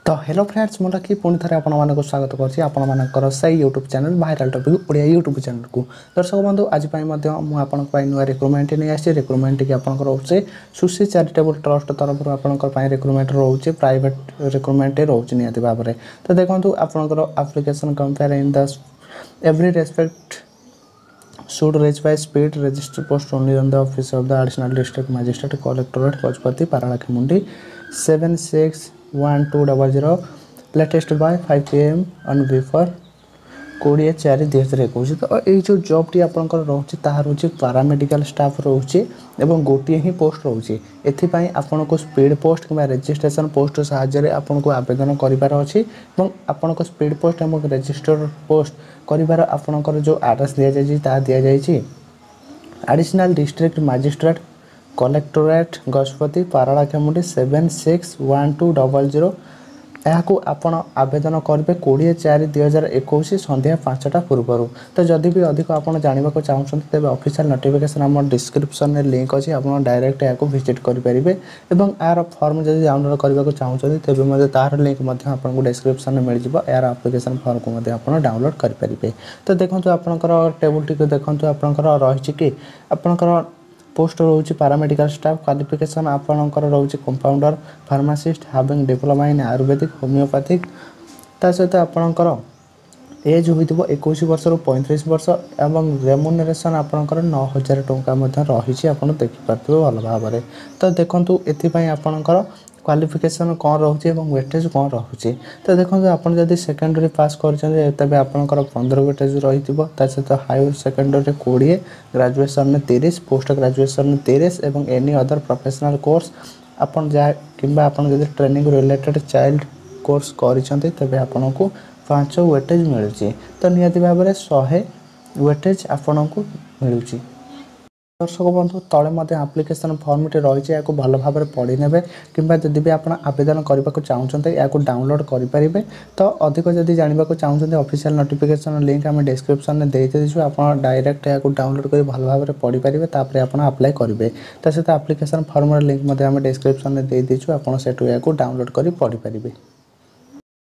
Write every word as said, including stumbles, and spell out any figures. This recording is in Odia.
ତ ହ୍ୟାଲୋ ଫ୍ରେଣ୍ଡସ୍, ମୁଁ ଲକି ପୁଣି ଥରେ ଆପଣମାନଙ୍କୁ ସ୍ୱାଗତ କରୁଛି ଆପଣମାନଙ୍କର ସେଇ YouTube channel viral topic Odia YouTube ଚ୍ୟାନେଲ୍କୁ। ଦର୍ଶକ ବନ୍ଧୁ, ଆଜି ପାଇଁ ମଧ୍ୟ ମୁଁ ଆପଣଙ୍କ ପାଇଁ ନୂଆ ରିକ୍ରୁଟମେଣ୍ଟ ନେଇ ଆସିଛି। ରିକ୍ରୁଟମେଣ୍ଟଟି ଆପଣଙ୍କର ରହୁଛି ସୁଶୀ ଚାରିଟେବୁଲ୍ ଟ୍ରଷ୍ଟ ତରଫରୁ। ଆପଣଙ୍କ ପାଇଁ ରିକ୍ରୁଟମେଣ୍ଟ ରହୁଛି, ପ୍ରାଇଭେଟ୍ ରିକ୍ରୁଟମେଣ୍ଟ ରହୁଛି ନିହାତି ଭାବରେ। ତ ଦେଖନ୍ତୁ, ଆପଣଙ୍କର application compare in the every respect should reach by speed register post only on the office of the Additional District Magistrate, Collectorate, Gajapati, Paralakhemundi seven six one two double zero, latest by five P M on before କୋଡ଼ିଏ ଚାରି ଦୁଇ ହଜାର ଏକୋଇଶ। ତ ଏଇ ଯେଉଁ ଜବ୍ଟି ଆପଣଙ୍କର ରହୁଛି, ତାହା ରହୁଛି ପାରାମେଡ଼ିକାଲ ଷ୍ଟାଫ୍ ରହୁଛି ଏବଂ ଗୋଟିଏ ହିଁ ପୋଷ୍ଟ ରହୁଛି। ଏଥିପାଇଁ ଆପଣଙ୍କୁ ସ୍ପିଡ଼ ପୋଷ୍ଟ କିମ୍ବା ରେଜିଷ୍ଟ୍ରେସନ୍ ପୋଷ୍ଟ ସାହାଯ୍ୟରେ ଆପଣଙ୍କୁ ଆବେଦନ କରିବାର ଅଛି ଏବଂ ଆପଣଙ୍କ ସ୍ପିଡ଼ ପୋଷ୍ଟ ଏବଂ ରେଜିଷ୍ଟର ପୋଷ୍ଟ କରିବାର ଆପଣଙ୍କର ଯେଉଁ ଆଡ୍ରେସ୍ ଦିଆଯାଇଛି, ତାହା ଦିଆଯାଇଛି additional district magistrate, collectorate, Gajapati, Paralakhemundi seven six one two double zero. ଏହାକୁ ଆପଣ ଆବେଦନ କରିବେ କୋଡ଼ିଏ ଚାରି ଦୁଇ ହଜାର ଏକୋଇଶ ସନ୍ଧ୍ୟା ପାଞ୍ଚଟା ପୂର୍ବରୁ। ତ ଯଦି ବି ଅଧିକ ଆପଣ ଜାଣିବାକୁ ଚାହୁଁଛନ୍ତି, ତେବେ ଅଫିସିଆଲ୍ ନୋଟିଫିକେସନ୍ ଆମ ଡିସ୍କ୍ରିପ୍ସନ୍ରେ ଲିଙ୍କ୍ ଅଛି, ଆପଣ ଡାଇରେକ୍ଟ ଏହାକୁ ଭିଜିଟ୍ କରିପାରିବେ ଏବଂ ଏହାର ଫର୍ମ ଯଦି ଡାଉନଲୋଡ଼୍ କରିବାକୁ ଚାହୁଁଛନ୍ତି, ତେବେ ମଧ୍ୟ ତାହାର ଲିଙ୍କ୍ ମଧ୍ୟ ଆପଣଙ୍କୁ ଡିସ୍କ୍ରିପ୍ସନ୍ରେ ମିଳିଯିବ। ଏହାର ଆପ୍ଲିକେସନ୍ ଫର୍ମକୁ ମଧ୍ୟ ଆପଣ ଡାଉନଲୋଡ଼୍ କରିପାରିବେ। ତ ଦେଖନ୍ତୁ, ଆପଣଙ୍କର ଟେବୁଲ୍ଟିକୁ ଦେଖନ୍ତୁ। ଆପଣଙ୍କର ରହିଛି କି ଆପଣଙ୍କର ପୋଷ୍ଟ ରହୁଛି ପାରାମେଡ଼ିକାଲ ଷ୍ଟାଫ୍। କ୍ୱାଲିଫିକେସନ୍ ଆପଣଙ୍କର ରହୁଛି compounder, pharmacist having diploma in Ayurvedic, homeopathic. ତା ସହିତ ଆପଣଙ୍କର ଏଜ୍ ହୋଇଥିବ ଏକୋଇଶ ବର୍ଷରୁ ପଇଁତିରିଶ ବର୍ଷ ଏବଂ ରେମୁନେରେସନ୍ ଆପଣଙ୍କର ନଅ ହଜାର ଟଙ୍କା ମଧ୍ୟ ରହିଛି, ଆପଣ ଦେଖିପାରୁଥିବେ ଭଲ ଭାବରେ। ତ ଦେଖନ୍ତୁ, ଏଥିପାଇଁ ଆପଣଙ୍କର କ୍ୱାଲିଫିକେସନ୍ କ'ଣ ରହୁଛି ଏବଂ ୱେଟେଜ୍ କ'ଣ ରହୁଛି। ତ ଦେଖନ୍ତୁ, ଆପଣ ଯଦି ସେକେଣ୍ଡାରୀ ପାସ୍ କରିଛନ୍ତି, ତେବେ ଆପଣଙ୍କର ପନ୍ଦର ୱେଟେଜ୍ ରହିଥିବ। ତା ସହିତ ହାୟର ସେକେଣ୍ଡାରୀରେ କୋଡ଼ିଏ, ଗ୍ରାଜୁଏସନ୍ରେ ତିରିଶ, ପୋଷ୍ଟ ଗ୍ରାଜୁଏସନ୍ରେ ତିରିଶ ଏବଂ ଏନି ଅଦର ପ୍ରଫେସନାଲ୍ କୋର୍ସ ଆପଣ ଯାହା କିମ୍ବା ଆପଣ ଯଦି ଟ୍ରେନିଂ ରିଲେଟେଡ଼୍ ଚାଇଲ୍ଡ କୋର୍ସ କରିଛନ୍ତି, ତେବେ ଆପଣଙ୍କୁ ପାଞ୍ଚ ୱେଟେଜ୍ ମିଳୁଛି। ତ ନିହାତି ଭାବରେ ଶହେ ୱେଟେଜ୍ ଆପଣଙ୍କୁ ମିଳୁଛି। ଦର୍ଶକ ବନ୍ଧୁ, ତଳେ ମଧ୍ୟ ଆପ୍ଲିକେସନ୍ ଫର୍ମଟି ରହିଛି, ଏହାକୁ ଭଲ ଭାବରେ ପଢ଼ି ନେବେ କିମ୍ବା ଯଦି ବି ଆପଣ ଆବେଦନ କରିବାକୁ ଚାହୁଁଛନ୍ତି, ଏହାକୁ ଡାଉନଲୋଡ଼୍ କରିପାରିବେ। ତ ଅଧିକ ଯଦି ଜାଣିବାକୁ ଚାହୁଁଛନ୍ତି, ଅଫିସିଆଲ୍ ନୋଟିଫିକେସନ୍ ଲିଙ୍କ୍ ଆମେ ଡିସ୍କ୍ରିପ୍ସନ୍ରେ ଦେଇଦେଇଛୁ। ଆପଣ ଡାଇରେକ୍ଟ ଏହାକୁ ଡାଉନଲୋଡ଼୍ କରି ଭଲ ଭାବରେ ପଢ଼ିପାରିବେ, ତାପରେ ଆପଣ ଆପ୍ଲାଏ କରିବେ। ତା ସହିତ ଆପ୍ଲିକେସନ୍ ଫର୍ମର ଲିଙ୍କ୍ ମଧ୍ୟ ଆମେ ଡିସ୍କ୍ରିପ୍ସନ୍ରେ ଦେଇଦେଇଛୁ, ଆପଣ ସେଠୁ ଏହାକୁ ଡାଉନଲୋଡ଼୍ କରି ପଢ଼ିପାରିବେ।